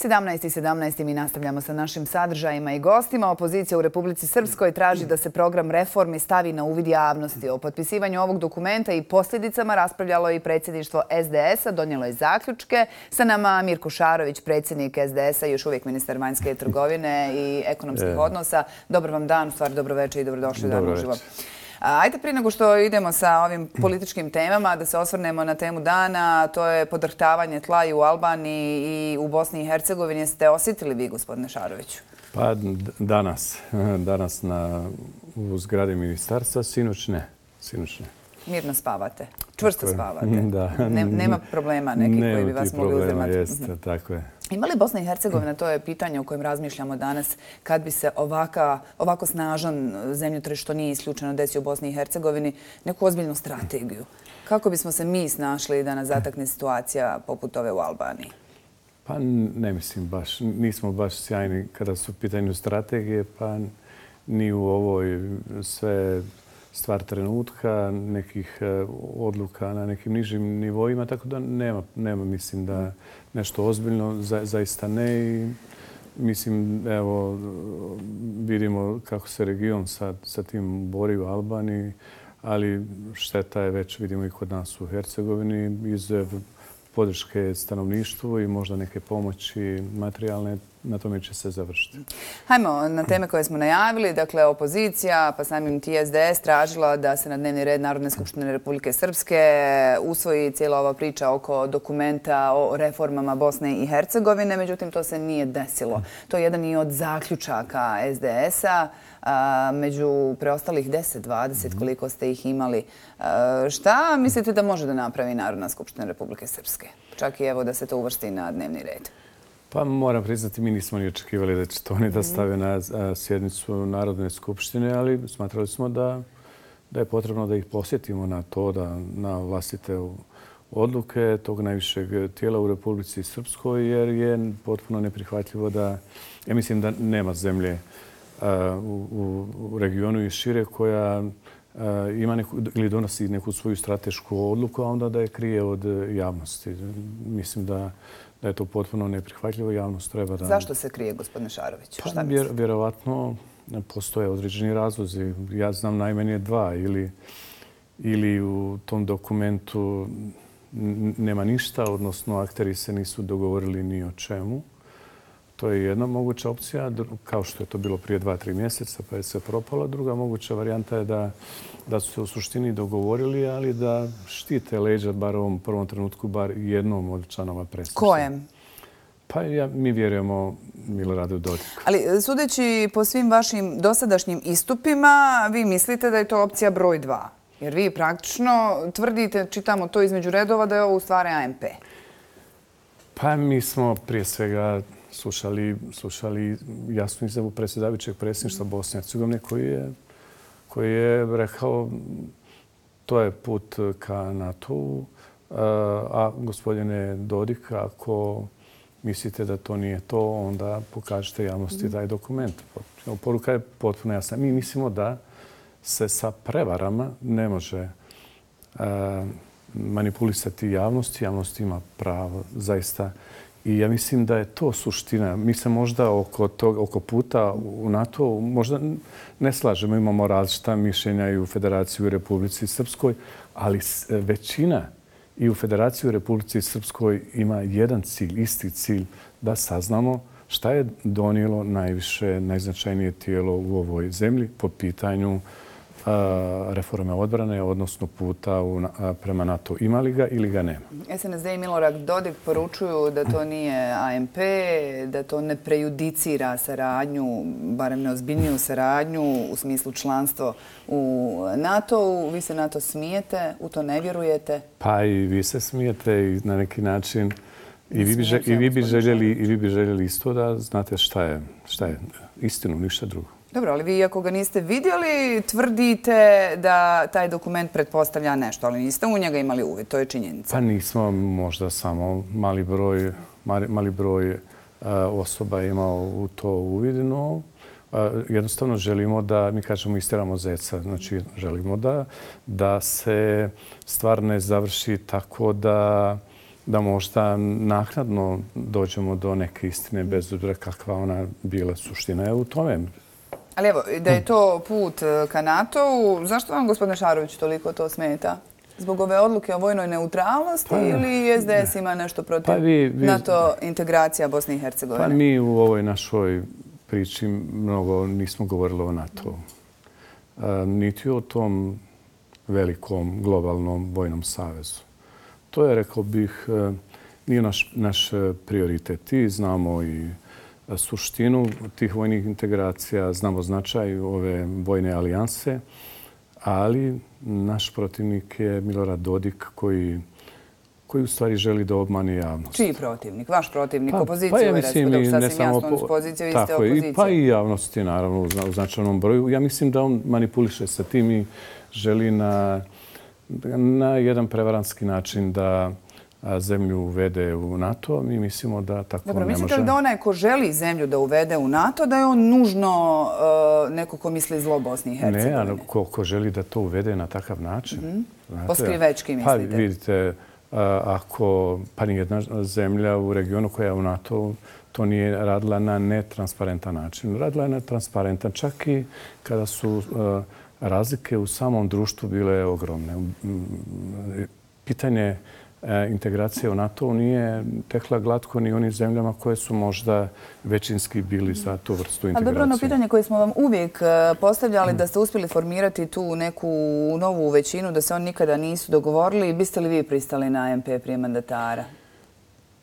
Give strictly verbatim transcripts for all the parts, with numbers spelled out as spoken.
sedamnaest i sedamnaest mi nastavljamo sa našim sadržajima i gostima. Opozicija u Republici Srpskoj traži da se program reformi stavi na uvid javnosti. O potpisivanju ovog dokumenta i posljedicama raspravljalo i predsjedništvo S D S-a, donijelo je zaključke. Sa nama Mirko Šarović, predsjednik S D S-a, još uvijek ministar vanjske trgovine i ekonomskih odnosa. Dobar vam dan, u stvari dobro večer i dobrodošli dan uživo. Ajde, prije nego što idemo sa ovim političkim temama, da se osvrnemo na temu dana, to je podrhtavanje tla i u Albaniji i u Bosni i Hercegovini. Jeste osjetili vi, gospodine Šaroviću? Pa danas, danas na, u zgradi ministarstva, sinoć ne, sinoć ne. Mirno spavate, čvrsto spavate. Da. Ne, nema problema nekih koji bi vas mogli uzimati. Jeste, tako je. Ima li Bosna i Hercegovina, to je pitanje o kojem razmišljamo danas, kad bi se ovaka, ovako snažan zemljotres, što nije isključeno, desio u Bosni i Hercegovini, neku ozbiljnu strategiju? Kako bismo se mi snašli da nas zatakne situacija poput ove u Albaniji? Pa ne mislim baš. Nismo baš sjajni kada su u pitanju strategije, pa ni u ovoj sve stvar trenutka, nekih odluka na nekim nižim nivoima, tako da nema, nema mislim da nešto ozbiljno, za, zaista ne. I mislim, evo, vidimo kako se region sa, sa tim bori u Albaniji, ali šteta je već, vidimo i kod nas u Hercegovini, iz podrške stanovništvu i možda neke pomoći materijalne, na tome će se završiti. Hajmo na teme koje smo najavili. Dakle, opozicija, pa samim ti S D S, tražila da se na dnevni red Narodne skupštine Republike Srpske usvoji cijela ova priča oko dokumenta o reformama Bosne i Hercegovine. Međutim, to se nije desilo. To je jedan i od zaključaka S D S-a. Među preostalih deset dvadeset, koliko ste ih imali. Šta mislite da može da napravi Narodna skupština Republike Srpske? Čak i evo da se to uvrsti na dnevni red. Pa moram priznati, mi nismo ni očekivali da će to oni da stave na sjednicu Narodne skupštine, ali smatrali smo da, da je potrebno da ih posjetimo na to, da na vlastite odluke tog najvišeg tijela u Republici Srpskoj, jer je potpuno neprihvatljivo da, ja mislim da nema zemlje u, u regionu i šire koja ima neku, ili donosi neku svoju stratešku odluku, a onda da je krije od javnosti. Mislim da da je to potpuno neprihvatljivo, javnost treba da... Zašto se krije, gospodine Šarović? Pa, vjer, vjerovatno postoje određeni razlozi. Ja znam najmanje dva. Ili, ili u tom dokumentu nema ništa, odnosno akteri se nisu dogovorili ni o čemu. To je jedna moguća opcija, kao što je to bilo prije dva, tri mjeseca, pa je se propalo. Druga moguća varijanta je da, da su se u suštini dogovorili, ali da štite leđa, bar u ovom prvom trenutku, bar jednom od članova predsjedništva. Kojem? Pa ja, mi vjerujemo Miloradu Dodiku. Ali sudeći po svim vašim dosadašnjim istupima, vi mislite da je to opcija broj dva. Jer vi praktično tvrdite, čitamo to između redova, da je ovo u stvari A M P. Pa mi smo prije svega slušali, slušali jasnu izjavu predsjedavajućeg predsjedništva Bosne i Hercegovine koji je, koji je rekao to je put ka NATO-u, a gospodine Dodik, ako mislite da to nije to, onda pokažite javnosti taj dokument. Poruka je potpuno jasna. Mi mislimo da se sa prevarama ne može manipulisati javnost. Javnost ima pravo zaista. I ja mislim da je to suština. Mi se možda oko, tog, oko puta u NATO možda ne slažemo. Imamo različita mišljenja i u Federaciji u Republici Srpskoj, ali većina i u Federaciji u Republici Srpskoj ima jedan cilj, isti cilj, da saznamo šta je donijelo najviše, najznačajnije tijelo u ovoj zemlji po pitanju reforme odbrane, odnosno puta prema NATO. Ima li ga ili ga nema? S N S D i Milorad Dodik poručuju da to nije A M P, da to ne prejudicira saradnju, barem neozbiljniju saradnju u smislu članstva u NATO-u. Vi se na to smijete, u to ne vjerujete? Pa i vi se smijete i na neki način i vi bi, žel, i vi bi, željeli, i vi bi željeli isto da znate šta je, šta je istinu, ništa drugo. Dobro, ali vi ako ga niste vidjeli, tvrdite da taj dokument pretpostavlja nešto, ali niste u njega imali uvid, to je činjenica. Pa nismo, možda samo mali broj, mali, mali broj uh, osoba imao u to uvid, no uh, jednostavno želimo da, mi kažemo, isteramo zeca. Znači, želimo da, da se stvar ne završi tako da da možda naknadno dođemo do neke istine bez obzira kakva ona bila. Suština je u tome. Ali evo, da je to put ka NATO-u, zašto vam, gospodine Šarović, toliko to smeta? Zbog ove odluke o vojnoj neutralnosti pa, ili S D S ima nešto protiv pa vi, vi, NATO integracija Bosne i Hercegovine? Pa mi u ovoj našoj priči mnogo nismo govorili o NATO-u. Niti o tom velikom globalnom vojnom savezu. To je, rekao bih, nije naš, naš prioritet. I znamo i suštinu tih vojnih integracija, znamo značaj ove vojne alijanse, ali naš protivnik je Milorad Dodik koji, koji u stvari želi da obmani javnost. Čiji protivnik? Vaš protivnik? Pa, opoziciju? Pa ja mislim i ne samo poziciju, tako je, pa i javnosti naravno u značajnom broju. Ja mislim da on manipuliše sa tim i želi na, na jedan prevarantski način da zemlju uvede u NATO. Mi mislimo da tako Dobro, ne može. mislite li da onaj ko želi zemlju da uvede u NATO, da je on nužno uh, neko ko misli zlo Bosni i Hercegovine? Ne, ali ko, ko želi da to uvede na takav način. Mm-hmm. Znate, poskrivečki mislite? Pa vidite, ako pa nijedna zemlja u regionu koja je u NATO to nije radila na netransparentan način. Radila je na transparentan, čak i kada su uh, razlike u samom društvu bile ogromne. Pitanje integracija u NATO nije tekla glatko ni onim zemljama koje su možda većinski bili za tu vrstu integracije. A dobro, ono pitanje koje smo vam uvijek postavljali, da ste uspjeli formirati tu neku novu većinu, da se oni nikada nisu dogovorili, biste li vi pristali na A M P prije mandatara?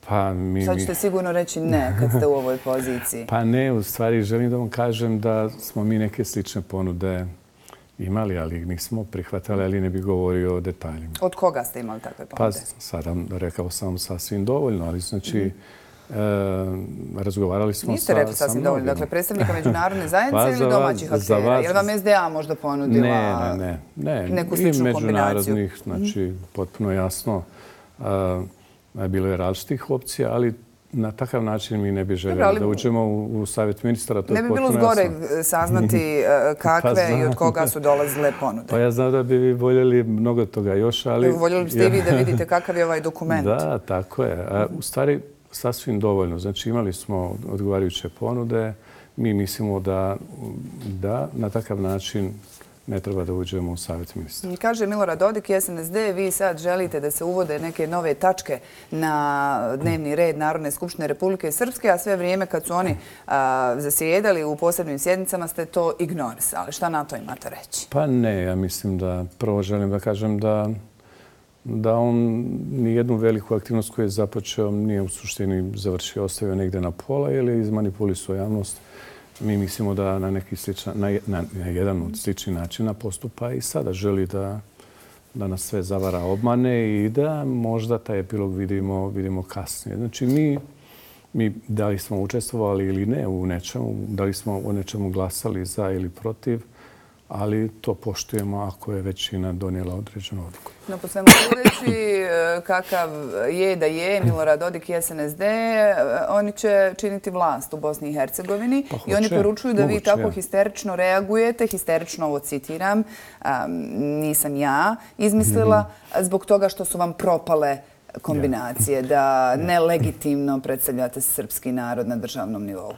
Pa mi... Sad ćete sigurno reći ne kad ste u ovoj poziciji. Pa ne, u stvari želim da vam kažem da smo mi neke slične ponude imali, ali ih nismo prihvatali, ali ne bih govorio o detaljima. Od koga ste imali takve ponude? Pa sada rekao sam sasvim dovoljno, ali znači mm-hmm. e, razgovarali smo Niste sa... Niste rekli sasvim dovoljno. Dakle, predstavnika međunarodne zajednice pa ili domaćih aktera? Je li vam S D A možda ponudila ne, ne, ne. neku sličnu kombinaciju? I međunarodnih, znači mm-hmm. potpuno jasno. E, bilo je različitih opcija, ali na takav način mi ne bi željeli ali, da uđemo u, u savjet ministara. To ne bi bilo zgore saznati kakve pa i od koga su dolazile ponude. Pa ja znam da bi vi voljeli mnogo toga još, ali... Voljeli biste i vi da vidite kakav je ovaj dokument. Da, tako je. A, u stvari, sasvim dovoljno. Znači, imali smo odgovarajuće ponude. Mi mislimo da, da na takav način ne treba da uđemo u savjet ministra. Kaže Milorad Dodik i S N S D, vi sad želite da se uvode neke nove tačke na dnevni red Narodne skupštine Republike Srpske, a sve vrijeme kad su oni a, zasjedali u posebnim sjednicama ste to ignorisali. Šta na to imate reći? Pa ne, ja mislim da prvo želim da kažem da da on nijednu veliku aktivnost koju je započeo nije u suštini završio, ostavio negdje na pola ili izmanipulisao javnost. Mi mislimo da na neki sličan, na, na, na jedan od sličnih načina postupa i sada želi da, da nas sve zavara, obmane i da možda taj epilog vidimo, vidimo kasnije. Znači mi, mi da li smo učestvovali ili ne u nečemu, da li smo u nečemu glasali za ili protiv, ali to poštujemo ako je većina donijela određenu odluku. No, po svemu sudeći, kakav je da je Milorad Dodik i S N S D, oni će činiti vlast u Bosni i Hercegovini pa i oni poručuju da moguće, vi tako ja. histerično reagujete, histerično ovo citiram, um, nisam ja izmislila, mm-hmm. zbog toga što su vam propale kombinacije, ja. da nelegitimno predstavljate srpski narod na državnom nivou.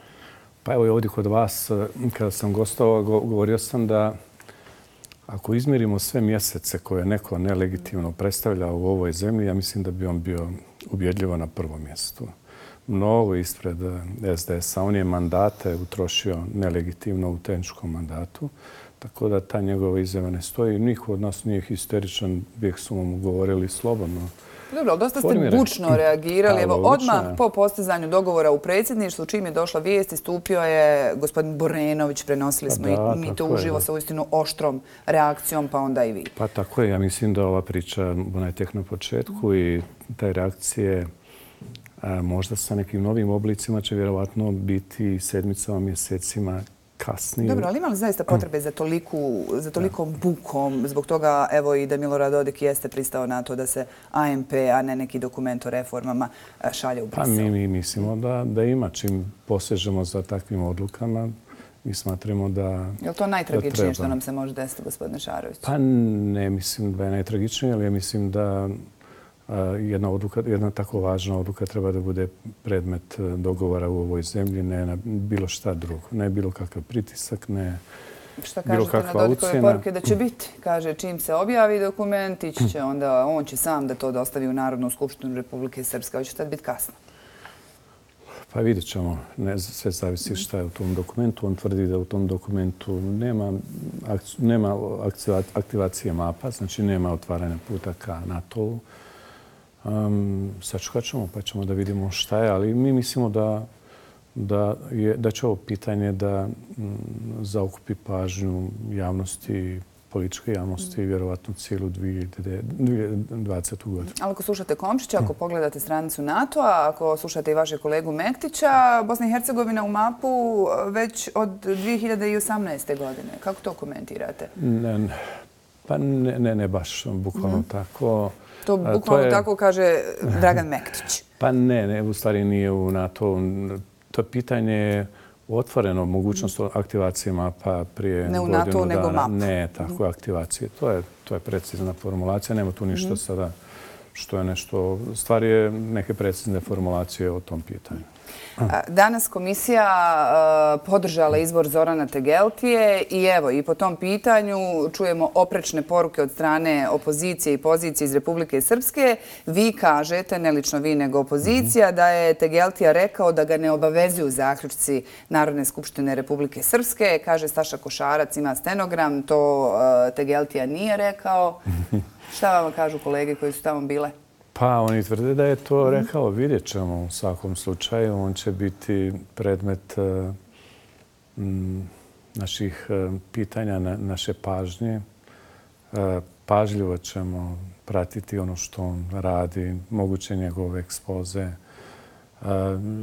Pa evo i ovdje kod vas, kada sam gostovao, govorio sam da ako izmjerimo sve mjesece koje neko nelegitimno predstavlja u ovoj zemlji, ja mislim da bi on bio ubjedljivo na prvom mjestu. Mnogo ispred S D S-a. On je mandate utrošio nelegitimno u tehničkom mandatu, tako da ta njegova izjava ne stoji. Niko od nas nije histeričan, uvijek su mu govorili slobodno. Dobro, ali dosta ste bučno reagirali. Evo, odmah po postizanju dogovora u predsjedništvu, čim je došla vijest, istupio je gospodin Borenović, prenosili smo i mi to uživo sa uistinu oštrom reakcijom, pa onda i vi. Pa tako je. Ja mislim da ova priča, ona je tek na početku i taj reakcije možda sa nekim novim oblicima će vjerovatno biti sedmicama, mjesecima kasnije. Dobro, ali ima li zaista potrebe za, toliku, za tolikom bukom? Zbog toga, evo i da Milorad Dodik jeste pristao na to da se A M P, a ne neki dokument o reformama, šalje u Brisel. Pa mi, mi mislimo da, da ima. Čim posežemo za takvim odlukama, mi smatramo da je li to najtragičnije što nam se može desiti, gospodine Šarović? Pa ne mislim da je najtragičnije, ali ja mislim da jedna, odluka, jedna tako važna odluka treba da bude predmet dogovora u ovoj zemlji, ne na bilo šta drugo. Ne bilo kakav pritisak, ne šta bilo kakva kažete na Dodikove ucjena. poruke da će biti? Kaže, čim se objavi dokument, ići će onda, on će sam da to dostavi u Narodnu skupštinu Republike Srpske. Hoće tad biti kasno? Pa vidjet ćemo. Ne, sve zavisi šta je u tom dokumentu. On tvrdi da u tom dokumentu nema, nema aktivacije mapa, znači nema otvaranja puta ka NATO-u. Um, sačekat ćemo pa ćemo da vidimo šta je, ali mi mislimo da, da, je, da će ovo pitanje da m, zaokupi pažnju javnosti, političke javnosti i vjerovatno cijelu dvije hiljade dvadesete. godinu. Ali ako slušate Komšića, ako pogledate stranicu NATO-a, ako slušate i vašeg kolegu Mektića, Bosna i Hercegovina u mapu već od dvije hiljade osamnaeste. godine. Kako to komentirate? Ne, pa ne, ne, ne baš bukvalno mm. tako. To bukvalno to je, tako kaže Dragan Mektić. Pa ne, ne, u stvari nije u NATO. To pitanje je otvoreno, mogućnost aktivacije mapa prije ne u godinu NATO, dana. Nego map. Ne, tako aktivacije. To je, to je precizna formulacija. Nema tu ništa mm. sada što je nešto... Stvar je neke precizne formulacije o tom pitanju. Danas komisija podržala izbor Zorana Tegeltije i evo i po tom pitanju čujemo oprečne poruke od strane opozicije i pozicije iz Republike Srpske. Vi kažete, ne lično vi nego opozicija, da je Tegeltija rekao da ga ne obavezuju zaključci Narodne skupštine Republike Srpske. Kaže Staša Košarac, ima stenogram, to Tegeltija nije rekao. Šta vam kažu kolege koji su tamo bile? Pa oni tvrde da je to rekao, vidjet ćemo u svakom slučaju. On će biti predmet m, naših pitanja, na, naše pažnje. Pažljivo ćemo pratiti ono što on radi, moguće njegove ekspoze.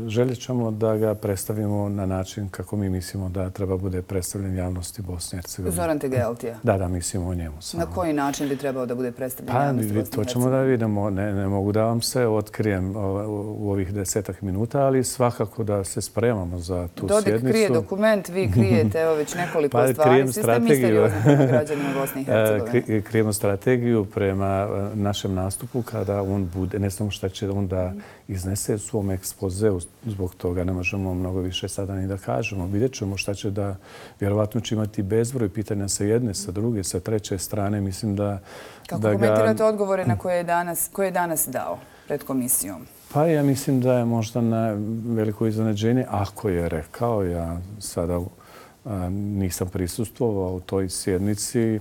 Željet ćemo da ga predstavimo na način kako mi mislimo da treba bude predstavljen javnosti Bosne i Hercegovine. Zoran Tegeltija? Da, da, mislimo o njemu samo. Na koji način bi trebao da bude predstavljen pa, javnosti Bosne i Hercegovine? To ćemo da vidimo. Ne, ne mogu da vam se otkrijem u ovih desetak minuta, ali svakako da se spremamo za tu Dodik sjednicu. Dodik krije dokument, vi krijete evo već nekoliko pa, stvari. Svi ste misteriozni prema građanima Bosne i Hercegovine. Krijemo strategiju prema našem nastupu kada on bude, ne znam šta će on da iznese u svom ekspozeu. Zbog toga ne možemo mnogo više sada ni da kažemo. Vidjet ćemo šta će da, vjerovatno će imati bezbroj pitanja sa jedne, sa druge, sa treće strane. Mislim da... Kako da komentirate ga... odgovore na koje je, danas, koje je danas dao pred komisijom? Pa ja mislim da je možda na veliko iznenađenje, ako je rekao. Ja sada a, nisam prisustvovao u toj sjednici.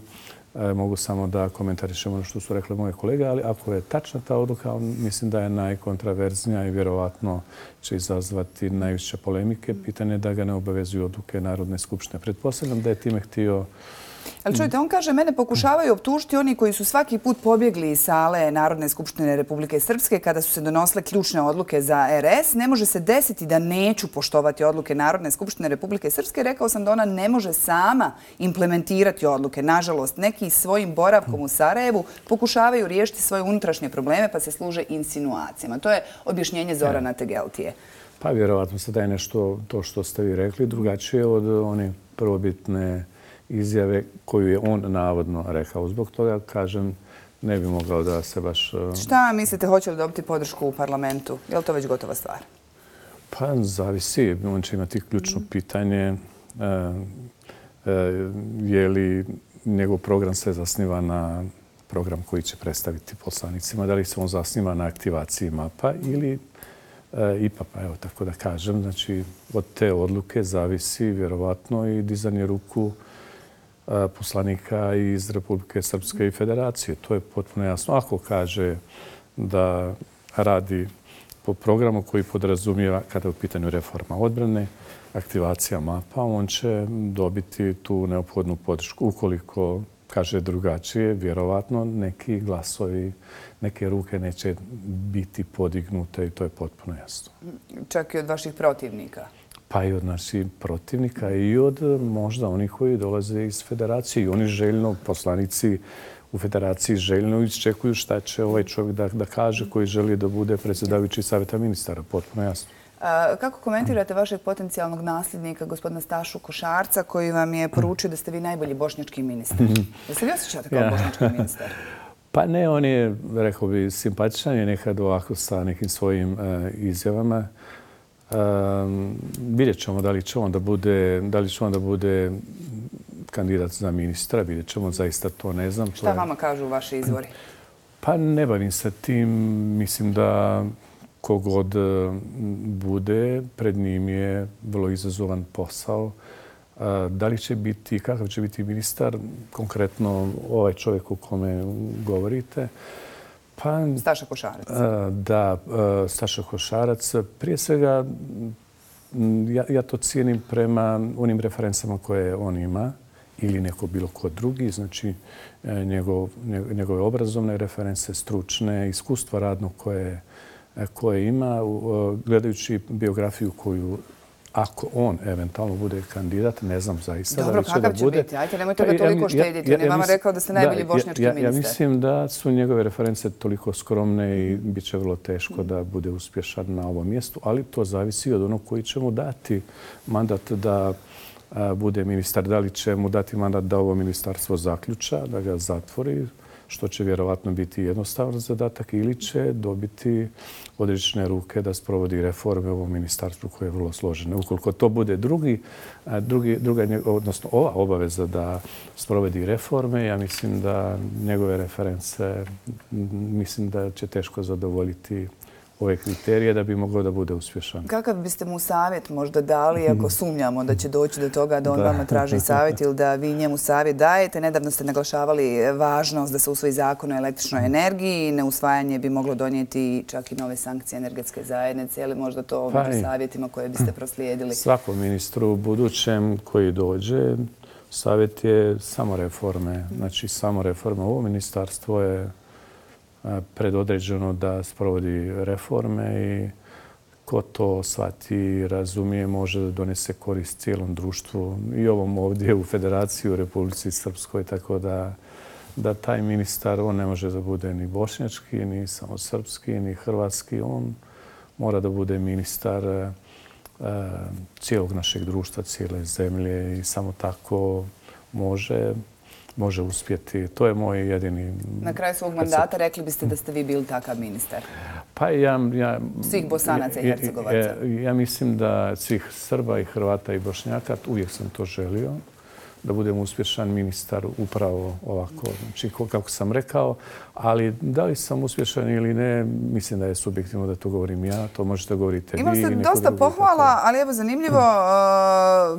E, mogu samo da komentarišem ono što su rekli moje kolege, ali ako je tačna ta odluka, mislim da je najkontraverznija i vjerovatno će izazvati najviše polemike. Pitanje je da ga ne obavezuju odluke Narodne skupštine. Pretpostavljam da je time htio... Ali čujte, on kaže, mene pokušavaju optužiti oni koji su svaki put pobjegli iz sale Narodne skupštine Republike Srpske kada su se donosile ključne odluke za R S. Ne može se desiti da neću poštovati odluke Narodne skupštine Republike Srpske. Rekao sam da ona ne može sama implementirati odluke. Nažalost, neki svojim boravkom u Sarajevu pokušavaju riješiti svoje unutrašnje probleme pa se služe insinuacijama. To je objašnjenje Zorana Tegeltije. Pa vjerovatno sada je nešto to što ste vi rekli drugačije od one prvobitne izjave koju je on navodno rekao. Zbog toga, kažem, ne bi mogao da se baš... Šta mislite, hoće li dobiti podršku u parlamentu? Je li to već gotova stvar? Pa zavisi. On će imati ključno pitanje je li njegov program se zasniva na program koji će predstaviti poslanicima. Da li se on zasniva na aktivaciji mapa ili I P A P-a, evo tako da kažem. Znači, od te odluke zavisi vjerovatno i dizanje ruku poslanika iz Republike Srpske i Federacije. To je potpuno jasno. Ako kaže da radi po programu koji podrazumijeva, kada je u pitanju reforma odbrane, aktivacija mapa, on će dobiti tu neophodnu podršku. Ukoliko kaže drugačije, vjerovatno neki glasovi, neke ruke neće biti podignute i to je potpuno jasno. Čak i od vaših protivnika? Pa i od naših protivnika i od možda onih koji dolaze iz Federacije. I oni željno, poslanici u Federaciji željno iščekuju šta će ovaj čovjek da, da kaže koji želi da bude predsjedavajući savjeta ministara. Potpuno jasno. A, kako komentirate vašeg potencijalnog nasljednika, gospodina Stašu Košarca, koji vam je poručio da ste vi najbolji bošnjački ministar? Da se vi osjećate kao ja. bošnjački ministar? Pa ne, on je, rekao bi, simpatičan je nekad ovako sa nekim svojim izjavama. Vidjet ćemo da li će on da bude, da li će on da bude kandidat za ministra. Vidjet ćemo, zaista to ne znam. Šta vama kažu vaši izvori? Pa ne bavim se tim. Mislim da kogod bude, pred njim je vrlo izazovan posao. Da li će biti, kakav će biti ministar, konkretno ovaj čovjek o kome govorite? Pa, Staša Košarac. Da, Staša Košarac. Prije svega, ja, ja to cijenim prema onim referencama koje on ima ili neko bilo ko drugi, znači njegov, njegove obrazovne reference, stručne, iskustva radno koje, koje ima, gledajući biografiju koju ako on eventualno bude kandidat, ne znam zaista Dobro, da li će da bude. Dobro, kakav će biti? Ajte, nemojte ga toliko štediti. On je vama rekao da ste najbolji bošnjački ministar. Ja mislim da su njegove reference toliko skromne i bit će vrlo teško da bude uspješan na ovom mjestu, ali to zavisi od onog koji će mu dati mandat da bude ministar. Da li će mu dati mandat da ovo ministarstvo zaključa, da ga zatvori, što će vjerovatno biti jednostavan zadatak, ili će dobiti odrične ruke da sprovodi reforme u ovom ministarstvu koje je vrlo složeno. Ukoliko to bude drugi, drugi, druga, odnosno ova obaveza da sprovodi reforme, ja mislim da njegove reference, mislim da će teško zadovoljiti ove kriterije da bi mogao da bude uspješan. Kakav biste mu savjet možda dali ako sumnjamo da će doći do toga da on vama traži savjet ili da vi njemu savjet dajete? Nedavno ste naglašavali važnost da se usvoji zakon o električnoj energiji i neusvajanje bi moglo donijeti čak i nove sankcije energetske zajednice. Je li možda to među savjetima koje biste proslijedili? Svakom ministru budućem koji dođe savjet je samo reforme. Znači samo reforme. Ovo ministarstvo je predodređeno da sprovodi reforme i ko to shvati i razumije može da donese korist cijelom društvu i ovom ovdje u Federaciji u Republici Srpskoj. Tako da, da taj ministar, on ne može da bude ni bošnjački, ni samo srpski, ni hrvatski. On mora da bude ministar e, cijelog našeg društva, cijele zemlje i samo tako može može uspjeti. To je moj jedini... Na kraju svog mandata rekli biste da ste vi bili takav ministar? Pa ja... ja svih Bosanaca i Hercegovaca? Ja, ja mislim da svih Srba i Hrvata i Bošnjaka, uvijek sam to želio, da budem uspješan ministar upravo ovako, znači kako sam rekao, ali da li sam uspješan ili ne, mislim da je subjektivno da to govorim ja, to možete govoriti vi. Imali ste dosta pohvala, ali evo zanimljivo,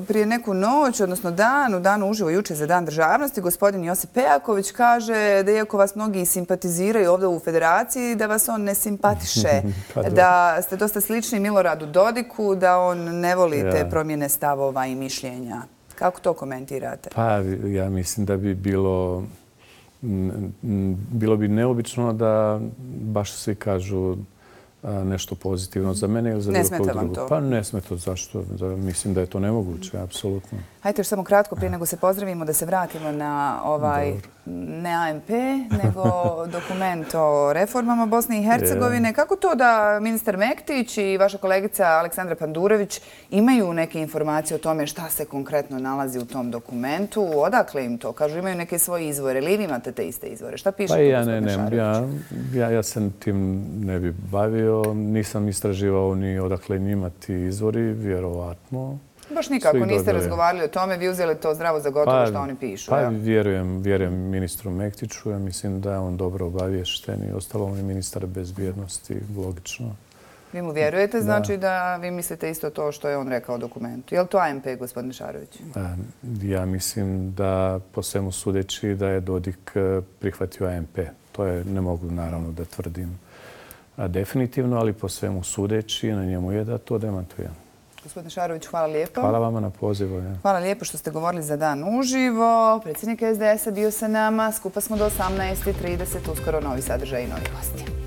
prije neku noć, odnosno dan, u danu uživo juče za Dan državnosti, gospodin Josip Pejaković kaže da iako vas mnogi simpatiziraju ovdje u Federaciji, da vas on ne simpatiše, da ste dosta slični Miloradu Dodiku, da on ne voli te promjene stavova i mišljenja. Kako to komentirate? Pa ja mislim da bi bilo, bilo bi neobično da baš svi kažu nešto pozitivno za mene ili za bilo kog drugog. Pa ne smeta. Zašto? Mislim da je to nemoguće, apsolutno. Hajde još samo kratko prije nego se pozdravimo da se vratimo na ovaj, ne A M P, nego dokument o reformama Bosne i Hercegovine. Kako to da ministar Mektić i vaša kolegica Aleksandra Pandurović imaju neke informacije o tome šta se konkretno nalazi u tom dokumentu? Odakle im to? Kažu imaju neke svoje izvore. Ili vi imate te iste izvore? Šta piše? Pa ja ne, ne. Ja, ja, ja se tim ne bi bavio. Nisam istraživao ni odakle njima ti izvori, vjerovatno. Baš nikako, niste razgovarali o tome, vi uzeli to zdravo za gotovo što oni pišu. Pa vjerujem, vjerujem ministru Mektiću, ja mislim da je on dobro obavješten i ostalo on je ministar bezbjednosti, logično. Vi mu vjerujete, znači da vi mislite isto to što je on rekao u dokumentu. Je li to A M P, gospodine Šarović? Ja mislim da po svemu sudeći da je Dodik prihvatio A M P. To je, ne mogu naravno da tvrdim definitivno, ali po svemu sudeći na njemu je da to demantuje. Gospodine Šarović, hvala lijepo. Hvala vama na pozivu. Ja. Hvala lijepo što ste govorili za Dan uživo. Predsjednik S D S-a bio sa nama. Skupa smo do osamnaest i trideset. Uskoro novi sadržaj i novi gosti.